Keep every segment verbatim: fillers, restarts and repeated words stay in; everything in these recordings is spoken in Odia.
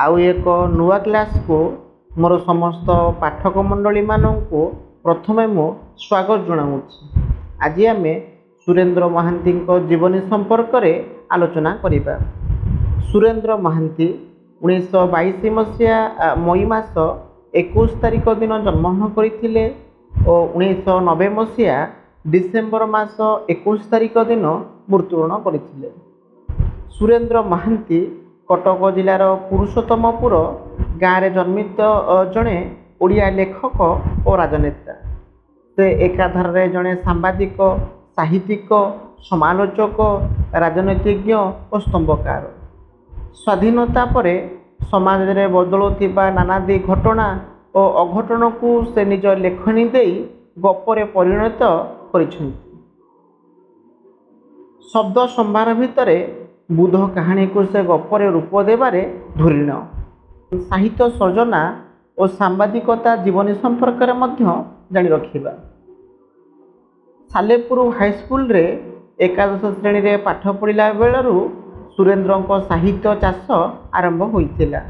ଆଉ ଏକ ନୂଆ କ୍ଲାସ୍କୁ ମୋର ସମସ୍ତ ପାଠକ ମଣ୍ଡଳୀମାନଙ୍କୁ ପ୍ରଥମେ ମୁଁ ସ୍ୱାଗତ ଜଣାଉଛି। ଆଜି ଆମେ ସୁରେନ୍ଦ୍ର ମହାନ୍ତିଙ୍କ ଜୀବନୀ ସମ୍ପର୍କରେ ଆଲୋଚନା କରିବା। ସୁରେନ୍ଦ୍ର ମହାନ୍ତି ଉଣେଇଶହ ବାଇଶ ମସିହା ମଇ ମାସ ଏକୋଇଶ ତାରିଖ ଦିନ ଜନ୍ମଗ୍ରହଣ କରିଥିଲେ ଓ ଉଣେଇଶହ ନବେ ମସିହା ଡିସେମ୍ବର ମାସ ଏକୋଇଶ ତାରିଖ ଦିନ ମୃତ୍ୟୁବରଣ କରିଥିଲେ। ସୁରେନ୍ଦ୍ର ମହାନ୍ତି କଟକ ଜିଲ୍ଲାର ପୁରୁଷୋତ୍ତମପୁର ଗାଁରେ ଜନ୍ମିତ ଜଣେ ଓଡ଼ିଆ ଲେଖକ ଓ ରାଜନେତା। ସେ ଏକାଧାରରେ ଜଣେ ସାମ୍ବାଦିକ, ସାହିତ୍ୟିକ, ସମାଲୋଚକ, ରାଜନୀତିଜ୍ଞ ଓ ସ୍ତମ୍ଭକାର। ସ୍ୱାଧୀନତା ପରେ ସମାଜରେ ବଦଳୁଥିବା ନାନାଦି ଘଟଣା ଓ ଅଘଟଣକୁ ସେ ନିଜ ଲେଖନୀ ଦେଇ ଗପରେ ପରିଣତ କରିଛନ୍ତି। ଶବ୍ଦ ସମ୍ଭାର ଭିତରେ ବୁଧ କାହାଣୀକୁ ସେ ଗପରେ ରୂପ ଦେବାରେ ଧୁରୀଣ। ସାହିତ୍ୟ ସର୍ଜନା ଓ ସାମ୍ବାଦିକତା ଜୀବନୀ ସମ୍ପର୍କରେ ମଧ୍ୟ ଜାଣି ରଖିବା। ସାଲେପୁର ହାଇସ୍କୁଲରେ ଏକାଦଶ ଶ୍ରେଣୀରେ ପାଠ ପଢ଼ିଲା ବେଳରୁ ସୁରେନ୍ଦ୍ରଙ୍କ ସାହିତ୍ୟ ଚାଷ ଆରମ୍ଭ ହୋଇଥିଲା।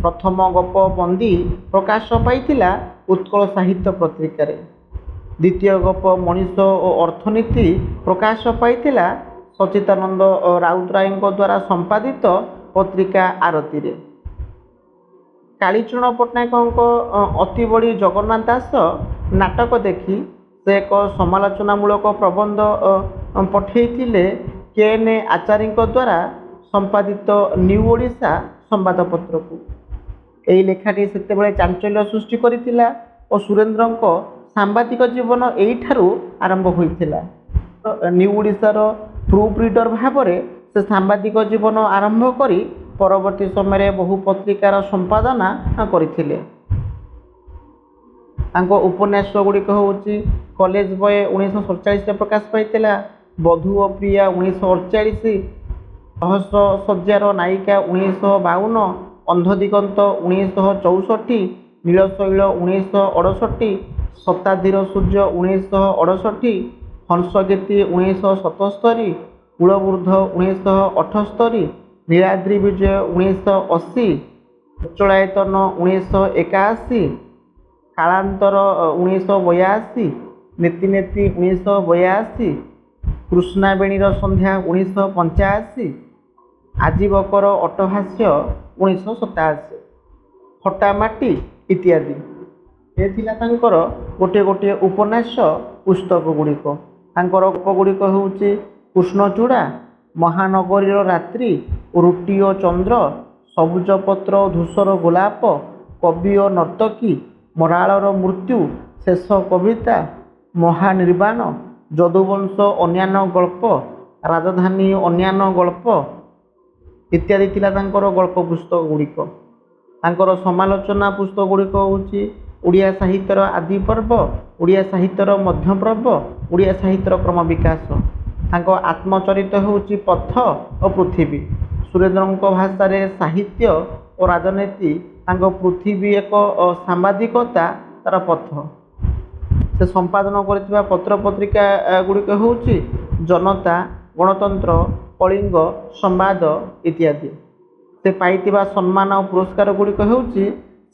ପ୍ରଥମ ଗପ ବନ୍ଦୀ ପ୍ରକାଶ ପାଇଥିଲା ଉତ୍କଳ ସାହିତ୍ୟ ପତ୍ରିକାରେ। ଦ୍ୱିତୀୟ ଗପ ମଣିଷ ଓ ଅର୍ଥନୀତି ପ୍ରକାଶ ପାଇଥିଲା ସଚ୍ଚିଦାନନ୍ଦ ରାଉତରାୟଙ୍କ ଦ୍ୱାରା ସମ୍ପାଦିତ ପତ୍ରିକା ଆରତୀରେ। କାଳୀଚରଣ ପଟ୍ଟନାୟକଙ୍କ ଅତିବଡ଼ି ଜଗନ୍ନାଥ ଦାସ ନାଟକ ଦେଖି ସେ ଏକ ସମାଲୋଚନାମୂଳକ ପ୍ରବନ୍ଧ ପଠେଇଥିଲେ କେ ଏନ୍ ଆଚାରୀଙ୍କ ଦ୍ୱାରା ସମ୍ପାଦିତ ନ୍ୟୁ ଓଡ଼ିଶା ସମ୍ବାଦପତ୍ରକୁ। ଏହି ଲେଖାଟି ସେତେବେଳେ ଚାଞ୍ଚଲ୍ୟ ସୃଷ୍ଟି କରିଥିଲା ଓ ସୁରେନ୍ଦ୍ରଙ୍କ ସାମ୍ବାଦିକ ଜୀବନ ଏଇଠାରୁ ଆରମ୍ଭ ହୋଇଥିଲା। ନ୍ୟୁ ଓଡ଼ିଶାର ପ୍ରୁଫ୍ ରିଡ଼ର ଭାବରେ ସେ ସାମ୍ବାଦିକ ଜୀବନ ଆରମ୍ଭ କରି ପରବର୍ତ୍ତୀ ସମୟରେ ବହୁ ପତ୍ରିକାର ସମ୍ପାଦନା କରିଥିଲେ। ତାଙ୍କ ଉପନ୍ୟାସ ଗୁଡ଼ିକ ହେଉଛି କଲେଜ ବୟ ଉଣେଇଶହ ସତଚାଳିଶରେ ପ୍ରକାଶ ପାଇଥିଲା, ବଧୂ ଓ ପ୍ରିୟା ଉଣେଇଶହ ଅଠଚାଳିଶ, ସହସ୍ର ଶଯ୍ୟାର ନାୟିକା ଉଣେଇଶହ ବାଉନ, ଅନ୍ଧଦିଗନ୍ତ ଉଣେଇଶହ ଚଉଷଠି, ନୀଳଶୈଳ ଉଣେଇଶହ ଅଡ଼ଷଠି, ଶତାବ୍ଦୀର ସୂର୍ଯ୍ୟ ଉଣେଇଶହ ଅଡ଼ଷଠି, ହଂସଗୀତି ଉଣେଇଶହ ସତସ୍ତରୀ, କୁଳବୃଦ୍ଧ ଉଣେଇଶହ ଅଠସ୍ତରୀ, ନୀଳାଦ୍ରି ବିଜୟ ଉଣେଇଶହ ଅଶୀ, ଅଚଳାୟତନ ଉଣେଇଶହ ଏକାଅଶୀ, କାଳାନ୍ତର ଉଣେଇଶହ ବୟାଅଶୀ, ନେତି ନେତି ଉଣେଇଶହ ବୟାଅଶୀ, କୃଷ୍ଣାବେଣୀର ସନ୍ଧ୍ୟା ଉଣେଇଶହ ପଞ୍ଚାଅଶୀ, ଆଜୀବକର ଅଟ୍ଟହାସ୍ୟ ଉଣେଇଶହ ସତାଅଶୀ, ଫଟାମାଟି ଇତ୍ୟାଦି। ଏ ଥିଲା ତାଙ୍କର ଗୋଟିଏ ଗୋଟିଏ ଉପନ୍ୟାସ ପୁସ୍ତକ ଗୁଡ଼ିକ। ତାଙ୍କର ଗପ ଗୁଡ଼ିକ ହେଉଛି କୃଷ୍ଣଚୂଡ଼ା, ମହାନଗରୀର ରାତ୍ରି, ରୁଟି ଓ ଚନ୍ଦ୍ର, ସବୁଜ ପତ୍ର ଓ ଧୂସର ଗୋଲାପ, କବି ଓ ନର୍ତ୍ତକୀ, ମରାଳର ମୃତ୍ୟୁ, ଶେଷ କବିତା, ମହାନିର୍ବାଣ, ଯଦୁବଂଶ ଅନ୍ୟାନ୍ୟ ଗଳ୍ପ, ରାଜଧାନୀ ଅନ୍ୟାନ୍ୟ ଗଳ୍ପ ଇତ୍ୟାଦି ଥିଲା ତାଙ୍କର ଗଳ୍ପ ପୁସ୍ତକ ଗୁଡ଼ିକ। ତାଙ୍କର ସମାଲୋଚନା ପୁସ୍ତକ ଗୁଡ଼ିକ ହେଉଛି ଓଡ଼ିଆ ସାହିତ୍ୟର ଆଦି ପର୍ବ, ଓଡ଼ିଆ ସାହିତ୍ୟର ମଧ୍ୟପର୍ବ, ଓଡ଼ିଆ ସାହିତ୍ୟର କ୍ରମ ବିକାଶ। ତାଙ୍କ ଆତ୍ମଚରିତ ହେଉଛି ପଥ ଓ ପୃଥିବୀ। ସୁରେନ୍ଦ୍ରଙ୍କ ଭାଷାରେ ସାହିତ୍ୟ ଓ ରାଜନୀତି ତାଙ୍କ ପୃଥିବୀ ଏକ ସାମ୍ବାଦିକତା ତାର ପଥ। ସେ ସମ୍ପାଦନ କରିଥିବା ପତ୍ରପତ୍ରିକା ଗୁଡ଼ିକ ହେଉଛି ଜନତା, ଗଣତନ୍ତ୍ର, କଳିଙ୍ଗ, ସମ୍ବାଦ ଇତ୍ୟାଦି। ସେ ପାଇଥିବା ସମ୍ମାନ ଓ ପୁରସ୍କାର ଗୁଡ଼ିକ ହେଉଛି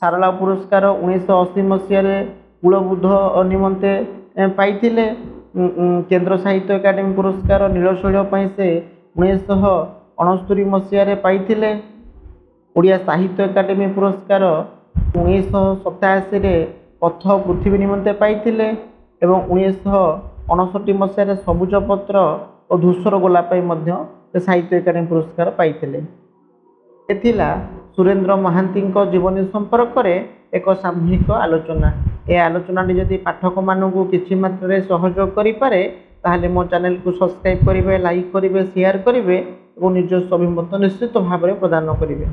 ସାରଳା ପୁରସ୍କାର ଉଣେଇଶହ ଅଶୀ ମସିହାରେ କୁଳବୃଦ୍ଧ ନିମନ୍ତେ ପାଇଥିଲେ। କେନ୍ଦ୍ର ସାହିତ୍ୟ ଏକାଡେମୀ ପୁରସ୍କାର ନୀଳଶୈଳ ପାଇଁ ସେ ଉଣେଇଶହ ଅଣସ୍ତରି ମସିହାରେ ପାଇଥିଲେ। ଓଡ଼ିଆ ସାହିତ୍ୟ ଏକାଡେମୀ ପୁରସ୍କାର ଉଣେଇଶହ ସତାଅଶୀରେ ପଥ ପୃଥିବୀ ନିମନ୍ତେ ପାଇଥିଲେ ଏବଂ ଉଣେଇଶହ ଅଣଷଠି ମସିହାରେ ସବୁଜ ପତ୍ର ଓ ଧୂସର ଗୋଲାପ ପାଇଁ ମଧ୍ୟ ସେ ସାହିତ୍ୟ ଏକାଡେମୀ ପୁରସ୍କାର ପାଇଥିଲେ। ଏ ଥିଲା ସୁରେନ୍ଦ୍ର ମହାନ୍ତିଙ୍କ ଜୀବନୀ ସମ୍ପର୍କରେ ଏକ ସାମୂହିକ ଆଲୋଚନା। ଏ ଆଲୋଚନାଟି ଯଦି ପାଠକମାନଙ୍କୁ କିଛି ମାତ୍ରାରେ ସହଯୋଗ କରିପାରେ, ତାହେଲେ ମୋ ଚ୍ୟାନେଲକୁ ସବସ୍କ୍ରାଇବ୍ କରିବେ, ଲାଇକ୍ କରିବେ, ସେୟାର କରିବେ ଏବଂ ନିଜସ୍ୱ ଅଭିମତ ନିଶ୍ଚିତ ଭାବରେ ପ୍ରଦାନ କରିବେ।